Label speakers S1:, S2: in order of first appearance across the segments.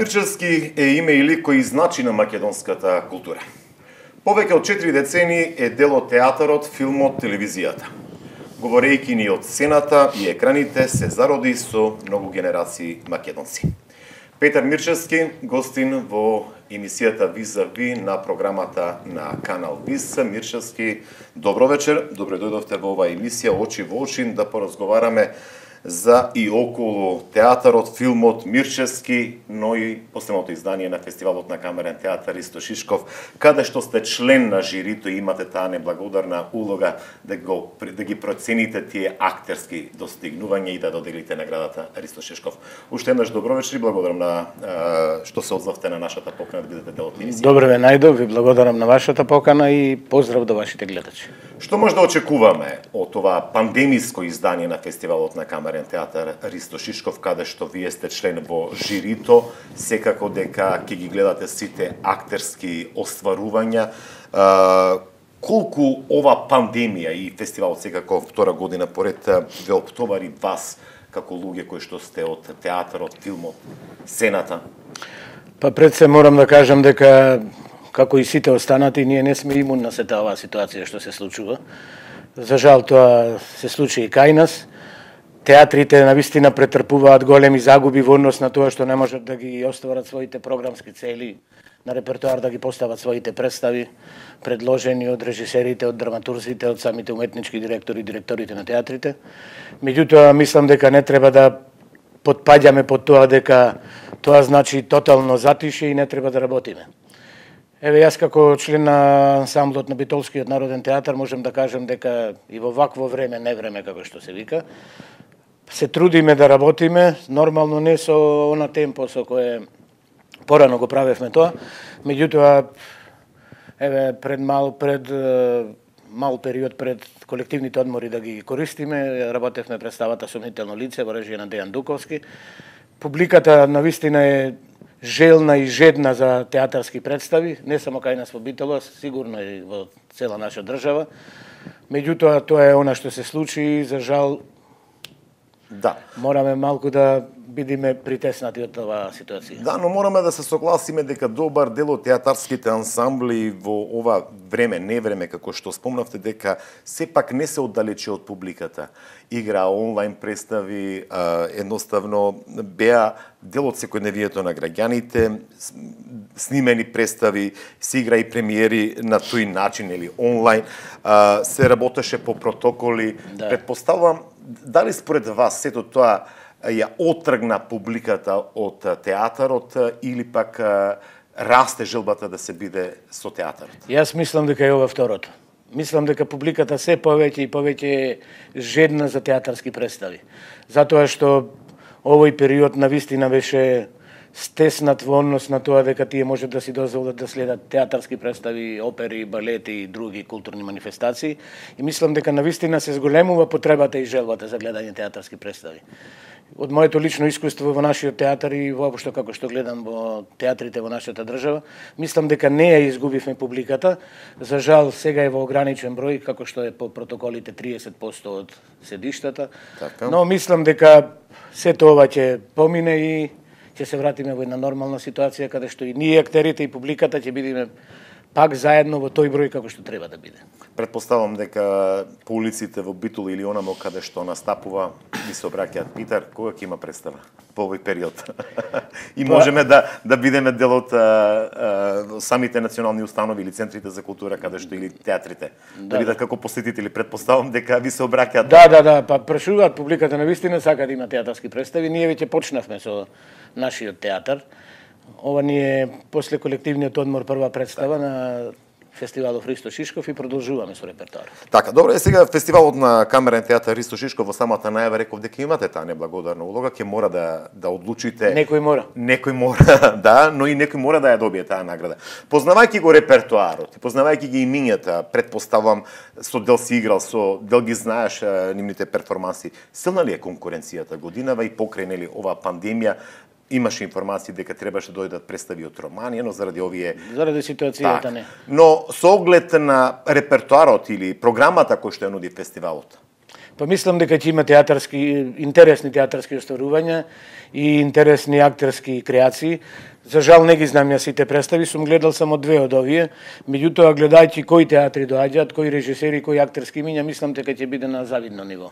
S1: Мирчевски е име и лик кој значи на македонската култура. Повеќе од 4 децени е дел од театарот, филмот, телевизијата. Говорејќи ни од сцената и екраните, се зароди со многу генерации македонци. Петар Мирчевски, гостин во емисијата Визави на програмата на Канал Виз. Мирчевски, добро вечер, добре дојдовте во оваа емисија Очи во очи да поразговараме за и околу театарот, филмот Мирчевски, но и последното издание на фестивалот на камерен театар Ристо Шишков, каде што сте член на жирито и имате таа неблагодарна улога да ги процените тие актерски достигнувања и да доделите наградата Ристо Шишков. Уште еднаш добро вечер и благодарам на што се оdzовте на нашата покана да бидете дел од емисијата.
S2: Добро ве најдов, ви благодарам на вашата покана и поздрав до вашите гледачи.
S1: Што може да очекуваме од ова пандемиско издание на фестивалот на камерен театар Ристо Шишков, каде што вие сте член во жирито, секако дека ќе ги гледате сите актерски остварувања. Колку ова пандемија и фестивалот секако втора година поред ве оптовари вас како луѓе кои што сте од театарот, филмот, сцената?
S2: Па пред се морам да кажам дека како и сите останати, ние не сме имун на сета оваа ситуација што се случува. За жал тоа се случи и кај нас. Театрите навистина претрпуваат големи загуби во однос на тоа што не можат да ги остварат своите програмски цели на репертоар, да ги постават своите представи, предложени од режисерите, од драматурзите, од самите уметнички директори и директорите на театрите. Меѓутоа, мислам дека не треба да потпаѓаме под тоа дека тоа значи тотално затише и не треба да работиме. Еве, јас како член на ансамблот на Битолскиот народен театар можам да кажам дека и во вакво време, не време како што се вика, се трудиме да работиме, нормално не со она темпо со кое порано го правевме тоа, меѓутоа еве пред мал период пред колективните одмори да ги користиме, работевме представата Сомнително лице во режија на Дејан Дуковски. Публиката навистина е желна и жедна за театарски представи, не само кај нас во Битола, сигурно и во цела наша држава. Меѓутоа, тоа е она што се случи и за жал
S1: да.
S2: Мораме малку да бидеме притеснати од оваа ситуација.
S1: Да, но мораме да се согласиме дека добар дел од театарските ансамбли во ова време, не време, како што спомнавте, дека сепак не се оддалечи од публиката. Игра онлайн представи, едноставно беа дел од секојдневието на граѓаните, снимени представи, се игра и премиери на тој начин или онлайн, се работеше по протоколи. Да. Предпоставувам, дали според вас сето тоа ја отргна публиката од театарот или пак расте желбата да се биде со театарот?
S2: Јас мислам дека е ова второто. Мислам дека публиката се повеќе и повеќе жедна за театарски представи. Затоа што овој период навистина беше стеснат во однос на тоа дека тие можат да си дозволат да следат театарски представи, опери, балети и други културни манифестации. И мислам дека навистина се зголемува потребата и желбата за гледање театарски представи. Од моето лично искуство во нашиот театар и воопшто како што гледам во театрите во нашата држава, мислам дека не ја изгубивме публиката. За жал, сега е во ограничен број, како што е по протоколите 30% од седиштата. Така. Но мислам дека сето ова ќе помине и ќе се вратиме во една нормална ситуација каде што и ние актерите и публиката ќе бидеме пак заедно во тој број како што треба да биде.
S1: Предпоставам дека по улиците во Битол или онамо каде што настапува ви се обраќаат. Питар, кога ќе има представа по овој период? И можеме да бидеме дел од самите национални установи или центрите за култура каде што или театрите. Да бидат како посетители. Предпоставам дека ви се обраќаат.
S2: Да, па прашуваат публиката навистина сака да има театарски представи. Ние веќе почнавме со нашиот театар. Ова ни е после колективниот одмор прва представа на фестивалот Ристо Шишков и продолжуваме со репертоарот.
S1: Така, добро, сега фестивалот на камерен театар Ристо Шишков во самата најава реков дека имате таа неблагодарна улога, ќе мора да одлучите.
S2: Некој
S1: мора, да, но и некој мора да ја добие таа награда. Познавајќи го репертоарот, познавајќи ги имињата, предпоставам со дел си играл, со дел ги знаеш нивните перформанси. Силна ли е конкуренцијата годинава и покрај нели оваа пандемија? Имаше информации дека требаше да дојдат представи од Романија, но
S2: заради ситуацијата не.
S1: Но со оглед на репертоарот или програмата кој што ја нуди фестивалот?
S2: Па мислам дека ќе има интересни театарски остварувања и интересни актерски креации. За жал не ги знам ја сите представи, сум гледал само 2 од овие, меѓутоа гледајќи кои театри доаѓаат, кои режисери, кои актерски имиња, мислам дека ќе биде на завидно ниво.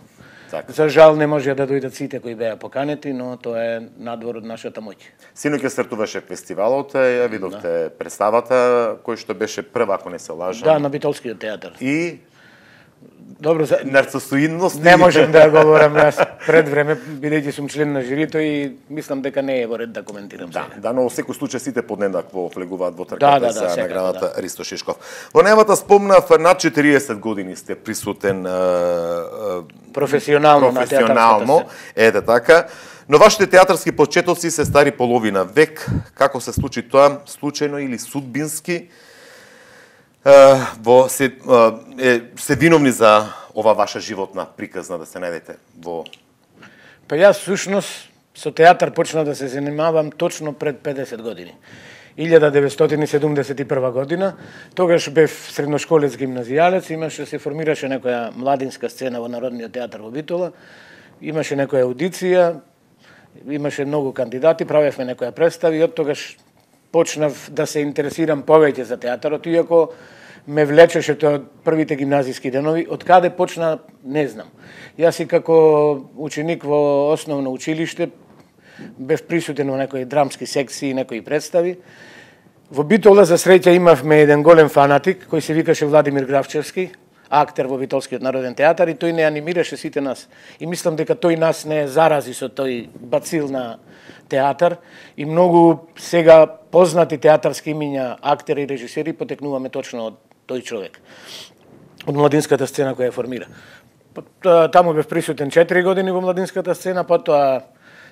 S1: Така.
S2: За жал не може да дојдат сите кои беа поканети, но тоа е надвор од нашата моќ.
S1: Синоќа стартуваше фестивалот, ја видовте представата кој што беше прва, ако не се лажам.
S2: Да, на Битолскиот театар.
S1: И
S2: добро,
S1: нарцисоидност.
S2: Не можам да говорам јас пред време, бидејќи сум член на жирито и мислам дека не е во ред да коментирам сега.
S1: Да, но во секој случај сите поднеднакво влегуваат во трката за наградата Ристо Шишков. Во најавата спомнав над 40 години сте присутен
S2: професионално на театарската
S1: сцена. Така. Но вашите театарски почетоци се стари половина век. Како се случи тоа, случајно или судбински? Се виновни за ова ваша животна приказна да се најдете во...
S2: Па јас всушност со театар почнав да се занимавам точно пред 50 години. 1971 година, тогаш бев средношколец гимназијалец, имаше се формираше некоја младинска сцена во Народниот театар во Битола, имаше некоја аудиција, имаше многу кандидати, правевме некоја представа и од тогаш почнав да се интересирам повеќе за театарот, иако ме влечеше тоа од првите гимназиски денови. Од каде почна, не знам. Јас и како ученик во основно училиште бев присутен во некои драмски секции, некои представи. Во Битола за среќа имавме еден голем фанатик кој се викаше Владимир Гравчевски, актер во Битолскиот народен театар, и тој не анимираше сите нас. И мислам дека тој нас не зарази со тој бацил на театар и многу сега познати театарски имиња, актери и режисери потекнуваме точно од тој човек. Од младинската сцена која ја формира. Таму бев присутен 4 години во младинската сцена, потоа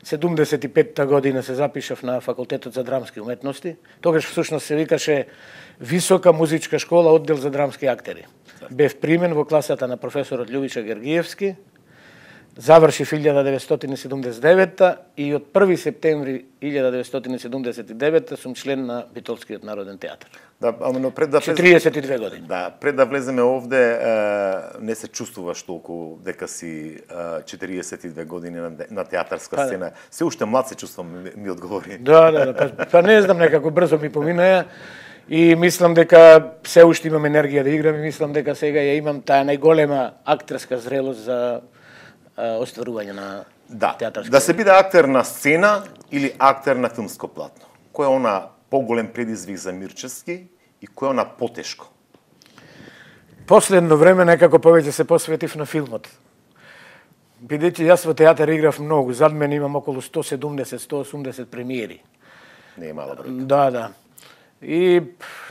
S2: 75-та година се запишав на Факултетот за драмски уметности. Тогаш всушност се викаше Висока музичка школа, оддел за драмски актери. Бев примен во класата на професорот Љубиша Гергиевски. Завршив 1979 и од 1 септември 1979 сум член на Битолскиот народен театар.
S1: Да, но пред да
S2: 42 години.
S1: Да, пред да влеземе овде, не се чувствуваш толку дека си 42 години на театарска сцена. Се уште млад се чувствам, ми одговори.
S2: Да, па не знам, некако брзо ми поминаја и мислам дека се уште имам енергија да играм и мислам дека сега ја имам таа најголема актерска зрелост за остварување на театарска.
S1: Да се биде актер на сцена или актер на филмско платно? Кој е она поголем предизвик за Мирчевски и кој е она потешко?
S2: Последно време некако повеќе се посветив на филмот. Бидејќи јас во театар играв многу, зад мене имам околу 170-180 премиери.
S1: Не е мала бројка.
S2: Да. И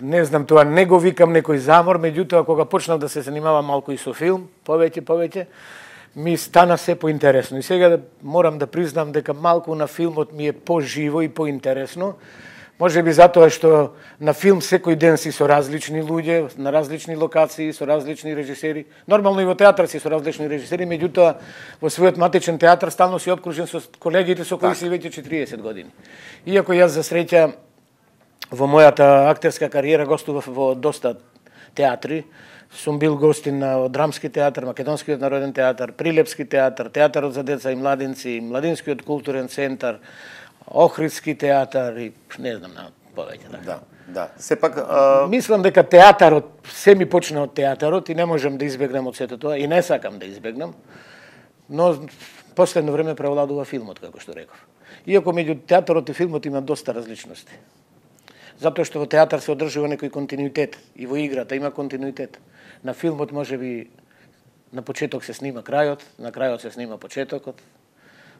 S2: не знам, тоа не го викам некој замор, меѓутоа кога почнав да се занимавам малку и со филм, повеќе, ми стана се поинтересно. И сега морам да признам дека малку на филмот ми е поживо и поинтересно. Може би затоа што на филм секој ден си со различни луѓе, на различни локации, со различни режисери. Нормално и во театар си со различни режисери, меѓутоа во својот матичен театар стално си обкружен со колегите со кои си веќе 40 години. Иако јас за среќа во мојата актерска кариера гостував во доста театри, сум бил гостин на Драмски театар, Македонскиот народен театар, Прилепски театар, Театарот за деца и младинци, Младинскиот културен центар, Охридски театар и не знам на повеќе.
S1: Да. Сепак
S2: мислам дека театарот се ми почна од театарот и не можам да избегнам од сето тоа и не сакам да избегнам. Но последно време преовладува филмот, како што реков. Иако меѓу театарот и филмот има доста различности. Затоа што во театар се одржува некој континуитет и во играта има континуитет. На филмот можеби на почеток се снима крајот, на крајот се снима почетокот.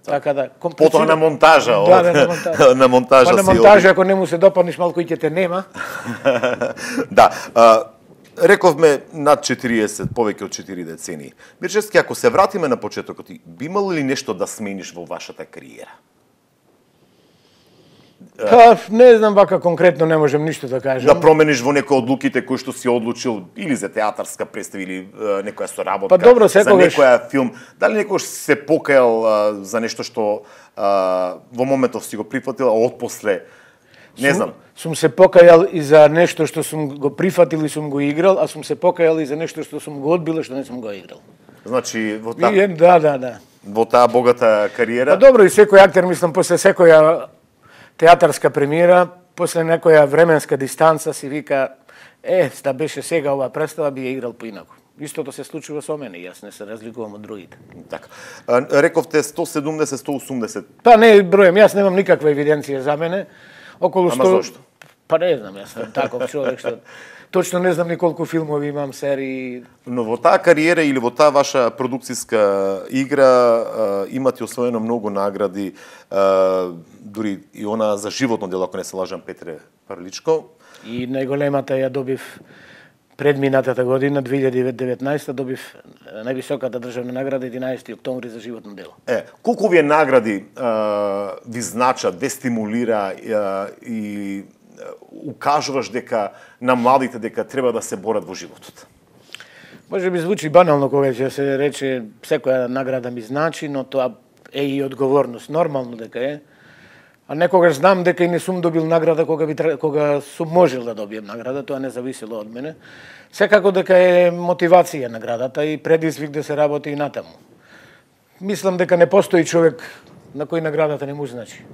S2: Така да,
S1: потоа на монтажа,
S2: на монтажа.
S1: На монтажа.
S2: Па на монтажа ако не му се допаднеш малку и ќе те нема.
S1: Да. Рековме над 40, повеќе од 4 децении. Мирчевски, ако се вратиме на почетокот, би имало ли нешто да смениш во вашата кариера?
S2: Па, не знам, вака конкретно не можем ништо да кажам.
S1: Да промениш во некои одлуките кои што си одлучил или за театарска представа или некоја соработка,
S2: па, добро,
S1: за некоја филм. Дали некој се покајал за нешто што во моментов си го прифатил, а отпосле не знам.
S2: Сум се покајал и за нешто што сум го прифатил и сум го играл, а сум се покајал и за нешто што сум го одбил и што не сум го играл.
S1: Значи
S2: Да.
S1: Во таа богата кариера.
S2: Па добро, и секој актер, мислам, после секоја театарска премиера, после некоја временска дистанца си вика, да беше сега оваа представа, би ја играл поинаку. Истото се случува со мене, јас не се разликувам од другите.
S1: Така. Рековте 170-180.
S2: Па не бројам, јас немам никаква евиденција за мене. Околу 100...
S1: Ама зошто?
S2: Па не знам, јас сум таков човек што точно не знам ни колку филмови имам, серии.
S1: Но во таа кариера или во таа ваша продукцијска игра имате освоено многу награди, дури и она за животно дело, ако не се лажам, Петре Прличко.
S2: И најголемата ја добив предминатата година, 2019, добив највисоката државна награда 11 октомври за животно дело.
S1: Колку овие награди ви значат, ве стимулира и укажуваш дека на младите дека треба да се борат во животот?
S2: Може би звучи банално кога ќе се рече секоја награда ми значи, но тоа е и одговорност, нормално дека е. А некогаш знам дека и не сум добил награда кога сум можел да добием награда, тоа не зависело од мене. Секако дека е мотивација наградата и предизвик да се работи и натаму. Мислам дека не постои човек на кој наградата не му значи.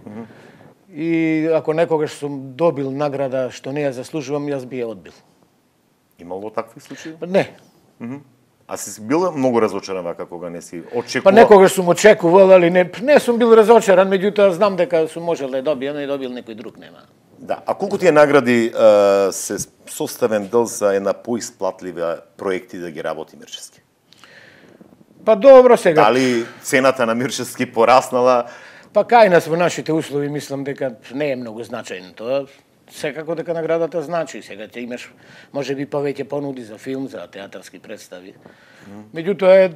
S2: И ако некогаш сум добил награда што не ја заслужувам, јас би ја одбил.
S1: Имало такви случаи?
S2: Не.
S1: А си бил многу разочаран вака кога не си очекувал?
S2: Па некогаш сум очекувал, али не сум бил разочаран, меѓутоа знам дека сум можел да ја добијам, и добил некој друг нема.
S1: Да, а колку тие награди се составен дел за една поисплатлива проекти да ги работи Мирчевски?
S2: Па добро сега.
S1: Дали цената на Мирчевски пораснала?
S2: Па кај нас во нашите услови мислам дека не е многу значајно тоа. Секако дека наградата значи. Сега ти имаш можеби повеќе понуди за филм, за театарски представи. Меѓутоа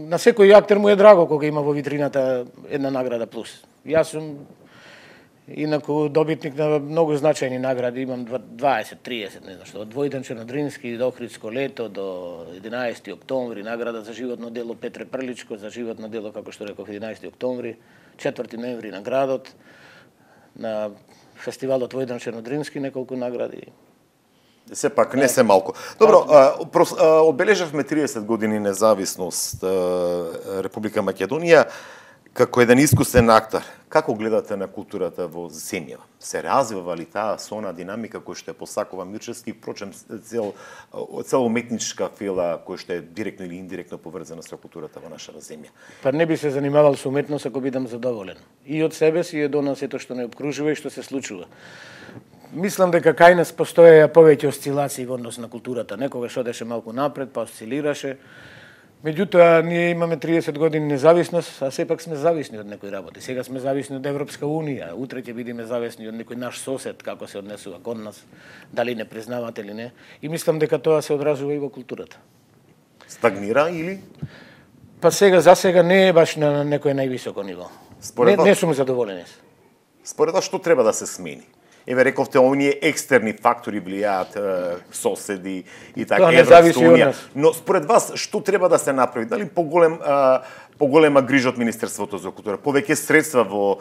S2: на секој актер му е драго кога има во витрината една награда плюс. Јас сум инаку добитник на многу значајни награди, имам 20, 30, не знам што, од Војдан Чернодрински до Охридско лето, до 11 октомври, награда за животно дело Петре Прличко, за животно дело, како што реков, 11 октомври, 4 ноември на градот, на фестивалот Војдан Чернодрински, неколку награди.
S1: Сепак не се малку. Добро, одбележавме 30 години независност Република Македонија. Како еден искусен актер, како гледате на културата во земјава? Се развива ли таа со она динамика која што е посакува Мирчевски, впрочем цела уметничка фела која што е директно или индиректно поврзана со културата во нашата земја?
S2: Па не би се занимавал со уметност ако бидам задоволен. И од себе си, и од она сето што не обкружува и што се случува. Мислам дека кај нас постоеја повеќе осцилации во однос на културата. Некогаш одеше малку напред, па осцилираше. Меѓутоа, ние имаме 30 години независност, а сепак сме зависни од некои работи. Сега сме зависни од Европска Унија, утре ќе бидеме зависни од некој наш сосед, како се однесува кон нас, дали не признават или не. И мислам дека тоа се одразува и во културата.
S1: Стагнира или?
S2: Па за сега не е баш на некој највисоко ниво. Не сум задоволен.
S1: Според вас што треба да се смени? Еве рековте, оние екстерни фактори влијаат, соседи и така, Европска Унија. Но според вас, што треба да се направи? Дали поголема грижа од Министерството за култура, повеќе средства во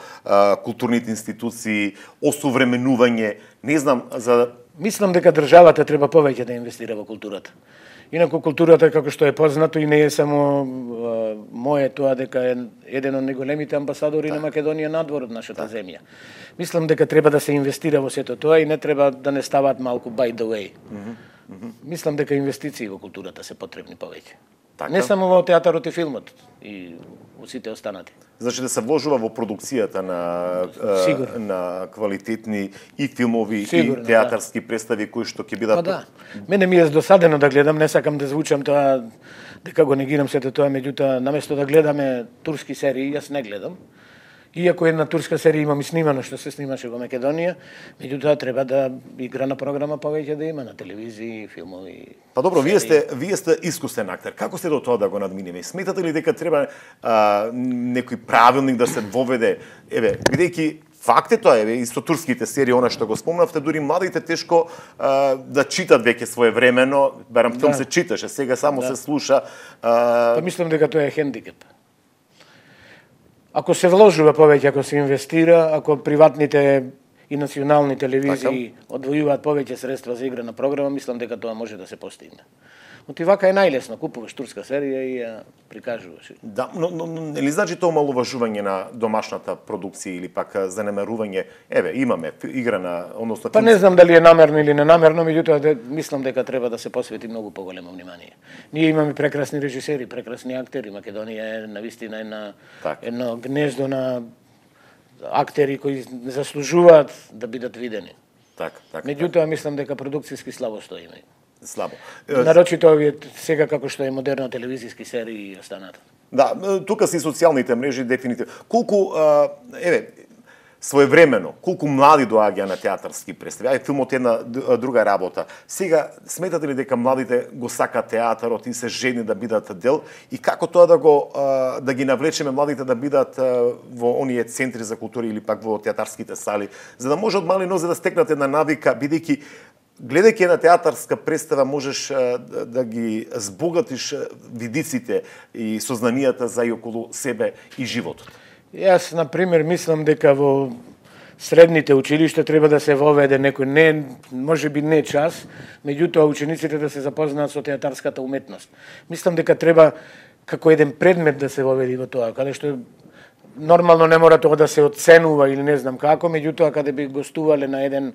S1: културните институции, осовременување, не знам, за...
S2: Мислам дека државата треба повеќе да инвестира во културата. Инаку културата, како што е познато, и не е само моје тоа, дека е еден од најголемите амбасадори на Македонија надвор од нашата земја. Мислам дека треба да се инвестира во сето тоа и не треба да не стават малку by the way. Мислам дека инвестиции во културата се потребни повеќе. Не само во театарот и филмот, и во сите останати.
S1: Значи да се вложува во продукцијата на квалитетни и филмови и театарски представи кои што ќе бидат...
S2: Да. Мене ми е досадено да гледам, не сакам да звучам тоа дека го негирам сето тоа, меѓутоа наместо да гледаме турски серии, јас не гледам. Иако една турска серија имам и снимано што се снимаше во Македонија, меѓутоа треба да играна програма повеќе да има на телевизии, филмови.
S1: Па добро, вие сте искусен актер. Како сте до тоа да го надминеме? Сметате ли дека треба некој правилник да се воведе? Еве, бидејќи факт е тоа, еве, и со турските серии, она што го спомнавте, дури младите тешко да читат веќе своевремено, барам филм се читаше, сега само се слуша.
S2: Па мислам дека тоа е хендикеп. Ако се вложува повеќе, ако се инвестира, ако приватните и национални телевизии одвојуваат повеќе средства за игра на програма, мислам дека тоа може да се постигне. Но ти вака е најлесно, купуваш турска серија и ја прикажуваш.
S1: Да, но нели значи тоа омалуважување на домашната продукција или пак занемарување, еве, имаме игра на, односно...
S2: Па не знам дали е намерно или ненамерно, меѓутоа мислам дека треба да се посвети многу поголемо внимание. Ние имаме прекрасни режисери, прекрасни актери, Македонија е навистина едно гнездо на актери кои заслужуваат да бидат видени. Меѓутоа мислам дека продукцијски слабо стоиме.
S1: Слабо.
S2: Нарочито овие сега како што е модерно телевизиски серии и останата.
S1: Да, тука се и социјалните мрежи дефинитивно. Колку своевремено, колку млади доаѓа на театарски представи. Ај, филмот е една друга работа. Сега сметате ли дека младите го сакаат театарот и се жедни да бидат дел и како тоа да ги навлечеме младите да бидат во оние центри за култура или пак во театарските сали, за да може од мали нозе да стекнат една навика, бидејќи гледајќи една театарска представа можеш да ги збогатиш видиците и сознанијата за и околу себе и животот.
S2: Јас, например, мислам дека во средните училишта треба да се воведе некој, можеби не час, меѓутоа учениците да се запознаат со театарската уметност. Мислам дека треба како еден предмет да се воведи во тоа, каде што нормално не мора тоа да се оценува или не знам како, меѓутоа каде би гостувале на еден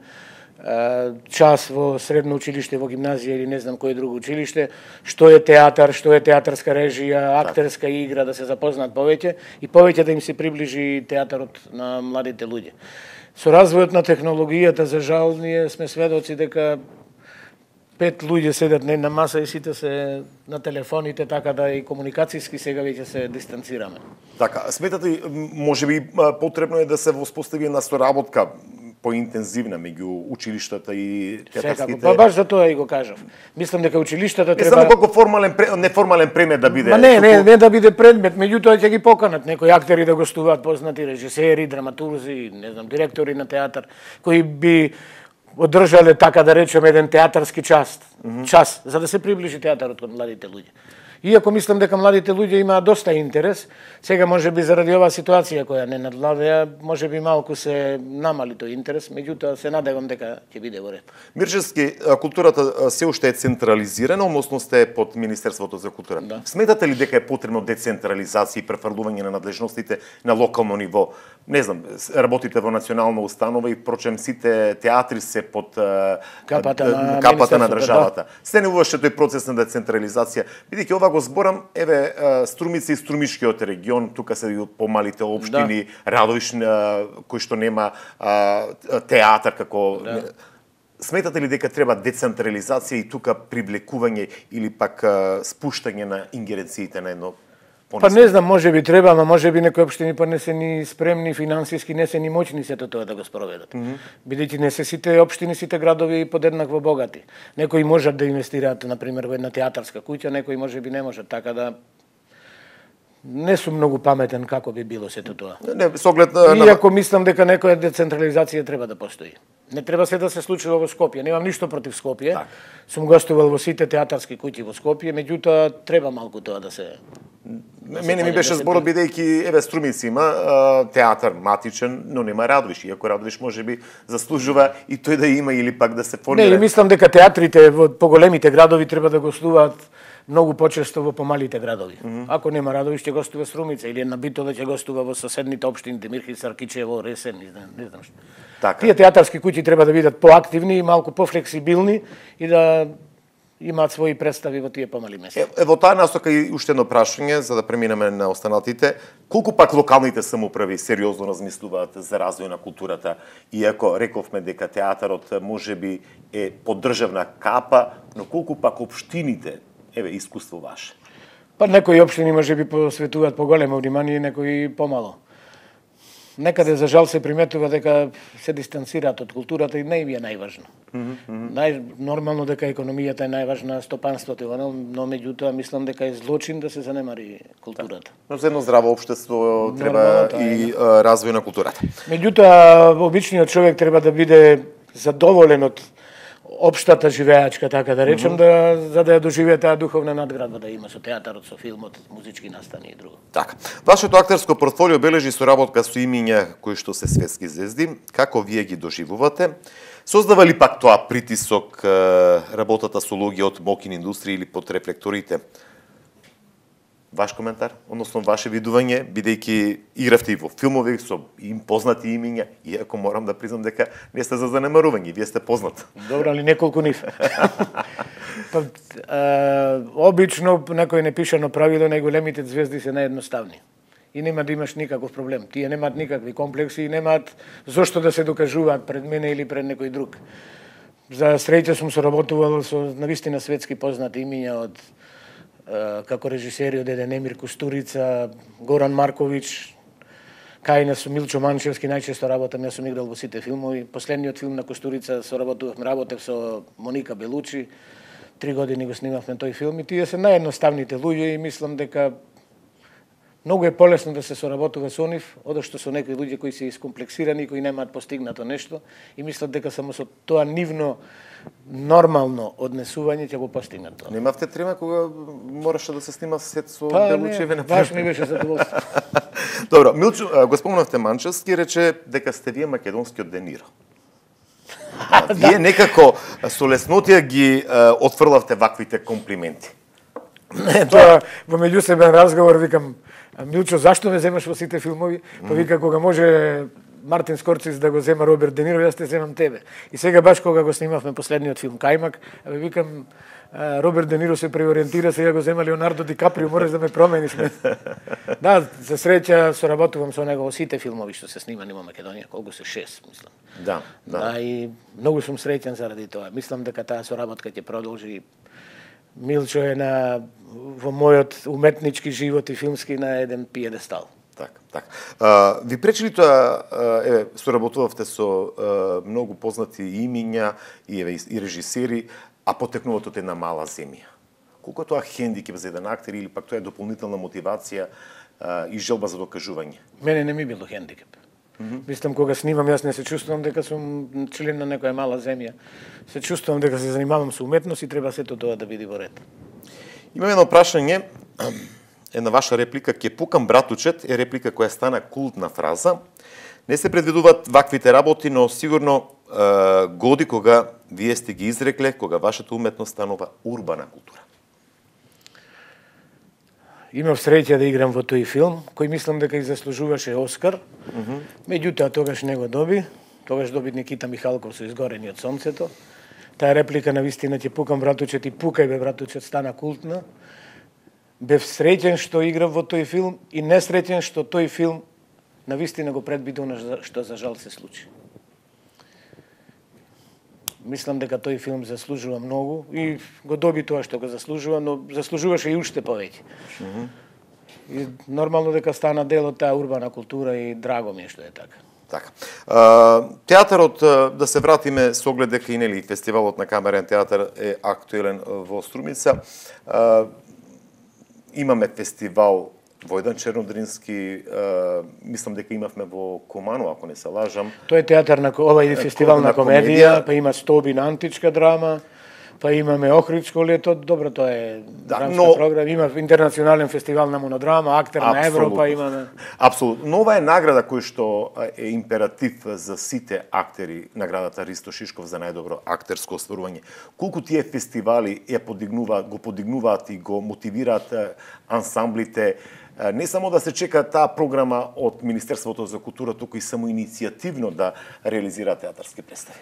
S2: час во средно училиште, во гимназија или не знам кој друго училиште, што е театар, што е театарска режија, актерска игра, да се запознаат повеќе и повеќе да им се приближи театарот на младите луѓе. Со развојот на технологијата, за жал, ние сме сведоци дека 5 луѓе седат на една маса и сите се на телефоните, така да и комуникацијски сега веќе се дистанцираме.
S1: Така, сметате можеби потребно е да се воспостави една соработка поинтензивна меѓу училиштата и театарските...
S2: Па баш за тоа и го кажав. Мислам дека училиштата треба...
S1: Не само како неформален предмет да биде...
S2: Не да биде предмет, меѓутоа ќе ги поканат некои актери да гостуваат, познати режисери, драматурзи, не знам, директори на театар, кои би одржале, така да речеме, еден театарски час, за да се приближи театарот кон младите луѓе. Иако мислам дека младите луѓе имаат доста интерес, сега можеби заради оваа ситуација која не надвладеа, можеби малку се намали тој интерес, меѓутоа се надевам дека ќе биде во ред.
S1: Мирчевски, културата се уште е централизирана, односно сте под Министерството за култура.
S2: Да.
S1: Сметате ли дека е потребно децентрализација и префрлување на надлежностите на локално ниво? Не знам, работите во национална установа и прочем сите театри се под капата на државата. Се не уваше тој процес на децентрализација, бидејќи ова го зборам, еве, Струмица и Струмишкиот регион, тука се и помалите општини, Радовиш, кој што нема театар како... Сметате ли дека треба децентрализација и тука привлекување или пак спуштање на ингеренциите на едно?
S2: Па не знам, можеби треба, ама можеби некои општини па не се ни спремни финансиски, не се ни моćни сето тоа да го спроведат. Бидејќи не се сите општини, сите градови подеднакво богати. Некои можат да инвестираат, например, во една театарска куќа, некои можеби не можат, така да не сум многу паметен како би било сето тоа.
S1: Не, со оглед
S2: Иако мислам дека некоја децентрализација треба да постои. Не треба се да се случува во Скопје. Немам ништо против Скопје. Сум гостувал во сите театарски куќи во Скопје, меѓутоа треба малку тоа да се...
S1: Мене ми беше зборот бидејќи еве Струмица има театар матичен, но нема Радовиш, иако Радовиш можеби заслужува и тој да има или пак да се формира.
S2: Не, мислам дека театрите во поголемите градови треба да гостуваат многу почесто во помалите градови. Ако нема Радовиш, ќе гостува Струмица или една Битола ќе гостува во соседните општини Демирхица, Кичево, Ресен, не знам што.
S1: Така.
S2: Тие театарски куќи треба да бидат поактивни и малку пофлексибилни и да имаат своји представи во тие помали места.
S1: Во таа насока и уште едно прашање за да преминеме на останатите. Колку пак локалните самоуправи сериозно размислуваат за развој на културата, иако рековме дека театарот можеби е под државна капа, но колку пак општините, еве искуство ваше?
S2: Па некои општини можеби посветуваат поголемо внимание, некои помало. Некаде за жал се приметува дека се дистанцираат од културата и не им е најважно. Нормално дека економијата е најважна, стопанството, но меѓутоа мислам дека е злочин да се занемари културата.
S1: Но за едно здраво општество треба и развој на културата.
S2: Меѓутоа обичниот човек треба да биде задоволен од општата живеачка, така да речем, за да ја доживее таа духовна надградба да има со театарот, со филмот, музички настани и друго.
S1: Така. Вашето актерско портфолио бележи соработка со имиња кои што се светски звезди. Како вие ги доживувате? Создава ли пак тоа притисок работата со луѓе од мокин индустрија или под рефлекторите? Ваш коментар, односно ваше видување, бидејќи игравте и во филмови со познати имиња, иако морам да признам дека не сте за занемарување, вие сте познат.
S2: Добро, али неколку нив. Обично некој непишано правило, најголемите звезди се наједноставни. И нема да имаш никаков проблем. Тие немаат никакви комплекси и немаат зошто да се докажуваат пред мене или пред некој друг. За среќа сум соработувал со навистина светски познати имиња од како режисери од Емир Кустурица, Горан Марковиќ, кај нас со Милчо Манчевски најчесто работам, јас сум играл во сите филмови. Последниот филм на Кустурица работев со Моника Белучи. 3 години го снимавме тој филм и тие се наједноставните луѓе и мислам дека многу е полесно да се соработува со нив, одошто со некои луѓе кои се искомплексирани, кои немаат постигнато нешто и мислат дека само со тоа нивно нормално однесување ќе го постигнат тоа.
S1: Немавте трема кога мораше да се снима сет со Белучеве на
S2: баш ми беше задоволство.
S1: Добро, Милчо, го спомнавте Манчевски, рече дека сте вие македонскиот Де Ниро. Вие некако со леснотија ги отфрлавте ваквите комплименти.
S2: Тоа во меѓусебен разговор викам: Милчо, зашто ме земаш во сите филмови? Па вика, кога може Мартин Скорцис да го зема Роберт Де Ниро, јас те земам тебе. И сега баш кога го снимавме последниот филм Кајмак, викам, Роберт Де Ниро се преориентира, сега го зема Леонардо Ди Каприо, мораш да ме промениш. Да, за среќа соработувам со него во сите филмови што се снимани во Македонија, колку се 6, мислам.
S1: Да.
S2: И многу сум среќен заради тоа. Мислам дека таа соработка ќе продолжи. Милчо е во мојот уметнички живот и филмски на еден пиедестал.
S1: Така. Ви пречи ли тоа, соработувавте со многу познати имиња и режисери, а потекнувате од една мала земја? Колку е тоа хендикеп за еден актер или пак тоа е дополнителна мотивација и желба за докажување?
S2: Мене не ми било хендикеп. Мислам, кога снимам, јас не се чувствувам дека сум член на некоја мала земја. Се чувствувам дека се занимавам со уметност и треба сето тоа да биде во ред.
S1: Имам едно прашање, една ваша реплика, ке пукам братучет, е реплика која стана култна фраза. Не се предвидуваат ваквите работи, но сигурно годи кога вие сте ги изрекле, кога вашата уметност станува урбана култура.
S2: Имав среќа да играм во тој филм, кој мислам дека и заслужуваше Оскар. Меѓутоа тогаш не го доби. Тогаш доби Никита Михалков со Изгорени од сонцето. Таа реплика навистина ќе пукам братучет и пукај бе братучет стана култна. Бев среќен што играв во тој филм и несреќен што тој филм навистина го предвидува што за жал се случи. Мислам дека тој филм заслужува многу и го доби тоа што го заслужува, но заслужуваше и уште повеќе. И нормално дека стана дел од таа урбана култура и драго ми е што е така.
S1: Така. Театарот, да се вратиме со оглед дека и нели фестивалот на камерен театар е актуелен во Струмица. Имаме фестивал Војдан Чернодрински, мислам дека имавме во Куману, ако не се лажам.
S2: Тој е театар на ова фестивал на комедија, па има Стоби на античка драма, па имаме Охридско лето, добро, тоа е драмска програма, има интернационален фестивал на монодрама, актер на Европа имаме.
S1: Апсолутно. Но ова е награда кој што е императив за сите актери, наградата Ристо Шишков за најдобро актерско остварување. Колку тие фестивали го подигнуваат и го мотивираат ансамблите, не само да се чека таа програма од Министерството за култура, туку и само иницијативно да реализира театарски представи.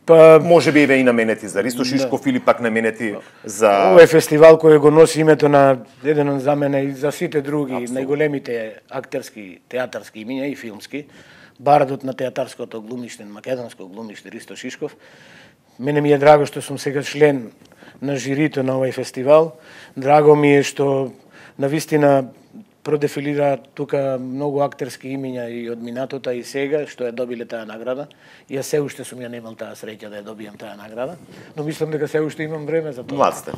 S2: Па
S1: може би и наменети за Ристо Шишков или пак наменети за
S2: Ова е фестивал кој го носи името на еден за мене и за сите други најголемите актерски театарски имиња и филмски. Бардот на театарското глумиште, македонско глумиште Ристо Шишков. Мене ми е драго што сум сега член на жирито на овој фестивал. Драго ми е што навистина продефилира тука многу актерски имиња и од минатото и сега, што ја добиле таа награда. Јас се уште сум ја немал таа среќа да ја добијам таа награда, но мислам дека се уште имам време за тоа.
S1: Млад сте.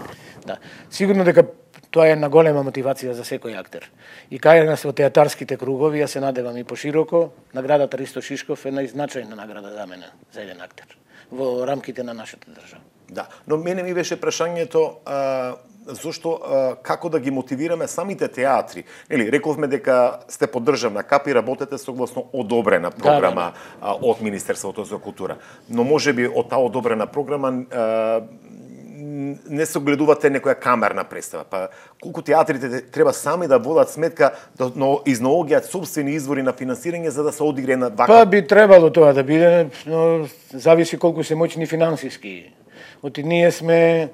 S2: Да. Сигурно дека Тоа е една голема мотивација за секој актер. И кај нас во театарските кругови, ја се надевам и пошироко, наградата Ристо Шишков е најзначајна награда за мене, за еден актер, во рамките на нашата држава.
S1: Да, но мене ми беше прашањето зошто како да ги мотивираме самите театри. Нели, рековме дека сте под државна капа и работете согласно одобрена програма од Министерството за култура. Но можеби од таа одобрена програма не согледувате некоја камерна представа. Па колку театрите треба сами да водат сметка да изнаоѓаат собствени извори на финансирање за да се одигре на вака?
S2: Па би требало тоа да биде, но зависи колку се моćни финансиски. Оти ние сме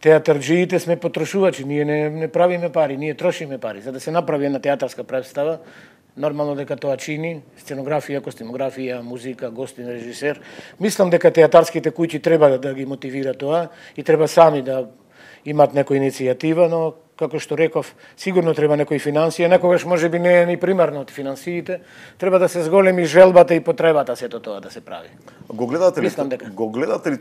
S2: театарџиите, сме потрошувачи, ние не правиме пари, ние трошиме пари. За да се направи една театарска представа, нормално дека тоа чини, сценографија, костимографија, музика, гостин, режисер. Мислам дека театарските куќи треба да ги мотивира тоа и треба сами да имат некоја иницијатива, но како што реков, сигурно треба некои финансија, некогаш можеби не е ни примарно од финансиите, треба да се зголеми желбата и потребата сето тоа да се прави.
S1: Го гледате ли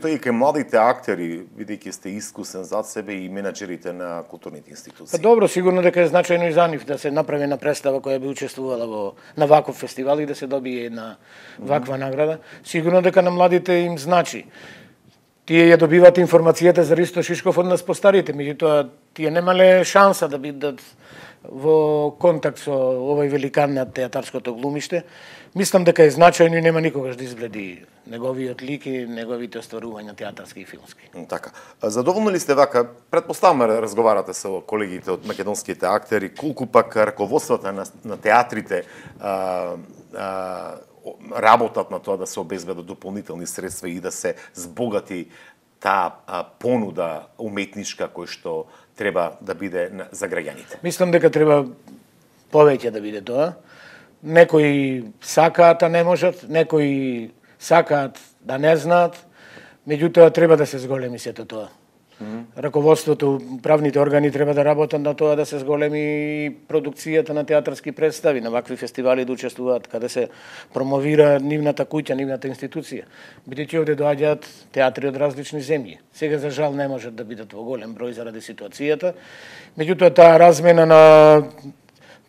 S1: тој и кај младите актери, бидејќи сте искусен зад себе и менаџерите на културните институции?
S2: Па добро, сигурно дека е значајно и за нив да се направи една представа која би учествувала на ваков фестивал и да се добие една ваква награда. Сигурно дека на младите им значи. Тие ја добиваат информацијата за Ристо Шишков од нас постарите, меѓутоа тие немале шанса да бидат во контакт со овој великан на театарското глумиште. Мислам дека е значајно и нема никогаш да избледи неговиот лик и неговите остварувања театарски и филмски.
S1: Така. Задоволни ли сте вака? Претпоставам разговарате со колегите од македонските актери, колку пак раководствата на театрите работат на тоа да се обезбедат дополнителни средства и да се збогати таа понуда уметничка кој што треба да биде за граѓаните?
S2: Мислам дека треба повеќе да биде тоа. Некои сакаат, а не можат, некои сакаат да не знаат, меѓутоа треба да се зголеми сето тоа. Раководството, правните органи треба да работат на тоа да се зголеми продукцијата на театарски представи, на вакви фестивали да учествуваат, каде се промовира нивната куќа, нивната институција. Бидејќи овде доаѓаат театри од различни земји. Сега за жал не можат да бидат во голем број заради ситуацијата. Меѓутоа таа размена на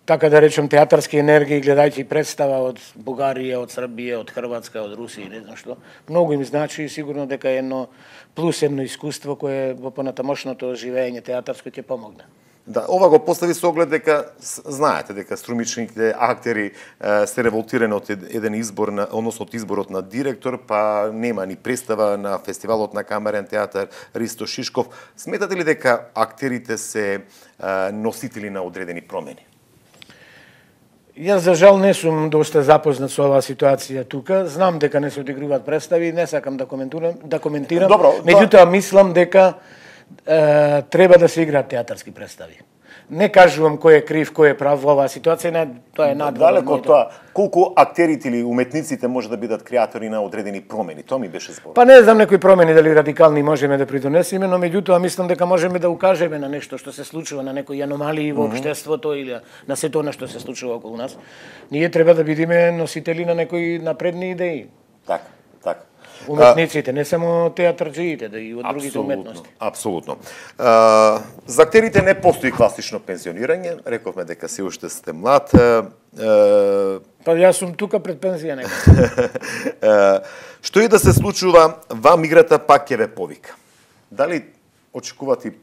S2: така да речем театарски енергија, гледајќи представа од Бугарија, од Србија, од Хрватска, од Русија, не знам што, многу им значи и сигурно дека е едно плюс едно искуство кое во понатамошното живење театарско ќе помогне.
S1: Да, ова го постави со оглед дека знаете дека струмичните актери се револтирани од еден избор односно од изборот на директор, па нема ни представа на фестивалот на камерен театар Ристо Шишков. Сметате ли дека актерите се носители на одредени промени?
S2: Јас за жал не сум доста запознат со оваа ситуација тука. Знам дека не се одигруваат представи, не сакам да коментирам.
S1: Добро,
S2: меѓутоа мислам дека треба да се играат театарски представи. Не кажувам кој е крив, кој е прав во оваа ситуација, тоа е надвор.
S1: Далеко од тоа, колку актерите или уметниците може да бидат креатори на одредени промени, тоа ми беше збор.
S2: Па не знам некои промени дали радикални можеме да придонесеме, но меѓутоа мислам дека можеме да укажеме на нешто што се случува, на некои аномалии во општеството или на сето она што се случува околу нас. Ние треба да бидеме носители на некои напредни идеи.
S1: Така.
S2: Уметниците, не само театарџиите, да и од другите уметности.
S1: Апсолутно. За актерите не постои класично пензионирање, рековме дека се уште сте млад.
S2: Па јас сум тука пред пензија некој.
S1: Што и да се случува, вам играта пак ќе ве повика. Дали очекувате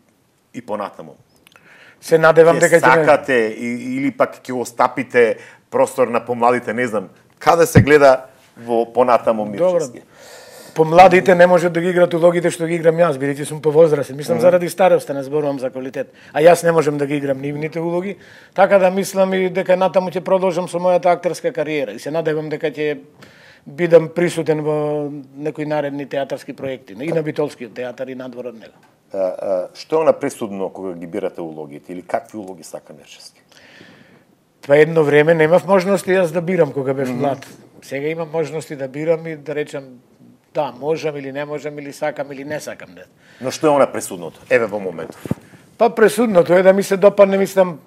S1: и понатаму?
S2: Се надевам дека
S1: ќе сакате или пак ќе остапите простор на помладите, не знам, каде се гледа во понатаму Мирчевски?
S2: Помладите не можат да ги играат улогите што ги играм јас, бидејќи сум повозрасен. Мислам заради староста, не зборувам за квалитет. А јас не можам да ги играм нивните улоги, така да мислам и дека натаму ќе продолжам со мојата актерска кариера и се надевам дека ќе бидам присутен во некои наредни театарски проекти, и на Битолскиот театар и надвор од него.
S1: Што е она пресудно кога ги бирате улогите или какви улоги сака Мирчевски?
S2: Па едно време немав можности јас да бирам кога бев млад. Сега имам можности да бирам и да речам да, можам или не можам, или сакам или не сакам.
S1: Но што е она пресудното? Еве во моментов.
S2: Па пресудното е да ми се допадне, мислам,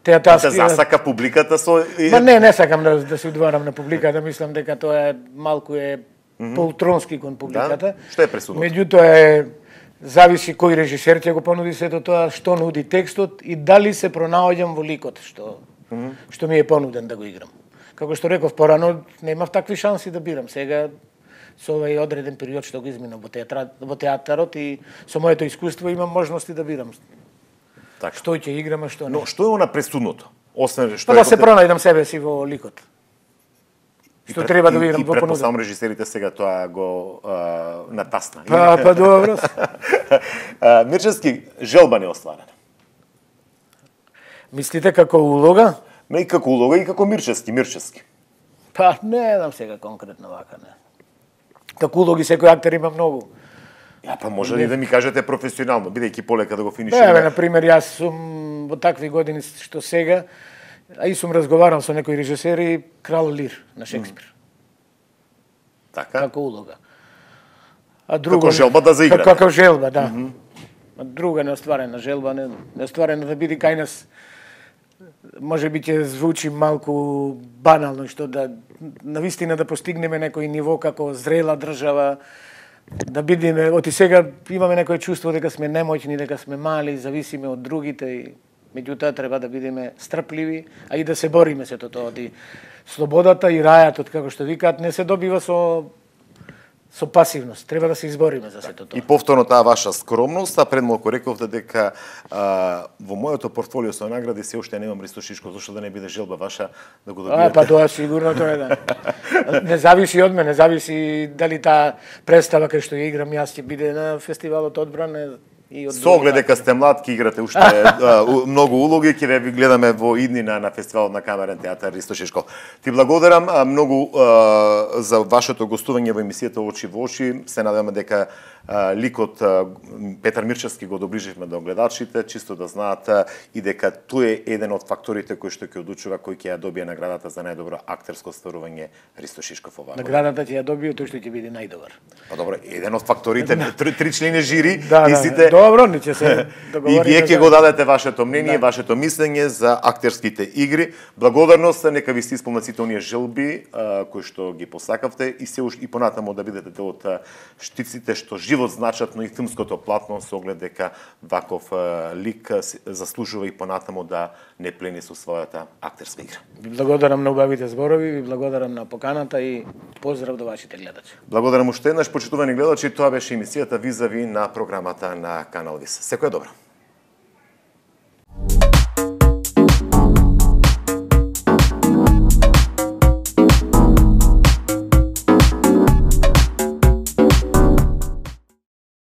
S2: театарски...
S1: Да засака публиката со...
S2: Ма не сакам да се удварам на публиката, мислам дека тоа е малку поутронски кон публиката.
S1: Да? Што е пресудното?
S2: Меѓутоа Зависи кој режисер ќе го понуди сето тоа, што нуди текстот и дали се пронаоѓам во ликот што ми е понуден да го играм. Како што реков порано, немав такви шанси да бирам. Сега со овој одреден период што го изминав во театарот и со моето искуство имам можности да бирам.
S1: Така.
S2: Што ќе играм, а што не.
S1: Но што е она пресудното? Освен што
S2: да се пронајдам себе си во ликот. Што треба да видам во понуда. И
S1: претпоставам режисерите сега тоа го натасна.
S2: Па добро.
S1: Мирчевски, желба не остварена.
S2: Мислите како улога?
S1: Не и како улога и како Мирчевски.
S2: Па не знам сега конкретно вака, не. Како улоги секој актер има многу.
S1: Ја, па може ли да ми кажете професионално, бидејќи полека да го финишираме?
S2: Бе, например, јас сум во такви години што сега, а и сум разговарал со некои режисери, Крал Лир на Шекспир.
S1: Така?
S2: Како улога. А друго,
S1: како желба да заиграме.
S2: Како желба, да. А друга неостварена желба, неостварена да биде кај нас. Може би ќе звучи малку банално, што да навистина да постигнеме некој ниво како зрела држава, да бидеме, оти сега имаме некој чувство дека сме немоќни, дека сме мали, зависиме од другите и меѓутоа треба да бидеме стрпливи, а и да се бориме сето тоа. Слободата и рајатот, како што викаат, не се добива со пасивност. Треба да се избориме за сето тоа.
S1: И повторно таа ваша скромност, а пред малку рековте дека во моето портфолио со награди се уште немам Ристо Шишков, зашто да не биде желба ваша да го добиете?
S2: Па тоа сигурно тоа е да. Не зависи од мене, зависи дали таа представа кај што ја играм јас ќе биде на фестивалот Одбрана и од
S1: со оглед дека сте млад, ќе играте уште многу улоги, ќе ве гледаме во иднина на фестивалот на Камерен театар Ристо Шишков. Ти благодарам многу за вашето гостување во емисијата Очи во очи. Се надеваме дека ликот Петар Мирчевски го доближивме до гледачите, чисто да знаат и дека тој е еден од факторите кој што ќе одлучува кој ќе ја добие наградата за најдобро актерско стварување Ристо Шишков оваа.
S2: Наградата ќе ја добие тој што ќе биде најдобар.
S1: Па добро, еден од факторите, три члени жири
S2: и
S1: сите.
S2: Добро, не ќе се договориме.
S1: И вие ќе го дадете вашето мнение, вашето мислење за актерските игри. Благодарност, нека ви се исполнат сите оние желби кои што ги посакавте и се и понатаму да бидете дел од штиците што живот значат, но и филмското платно со оглед дека ваков лик заслужува и понатаму да не плени со својата актерска игра.
S2: Ви благодарам на убавите зборови, ви благодарам на поканата и поздрав до вашите гледачи.
S1: Благодарам уште еднаш, почитувани гледачи, тоа беше емисијата Визави на програмата на Канал Вис. Секој добро.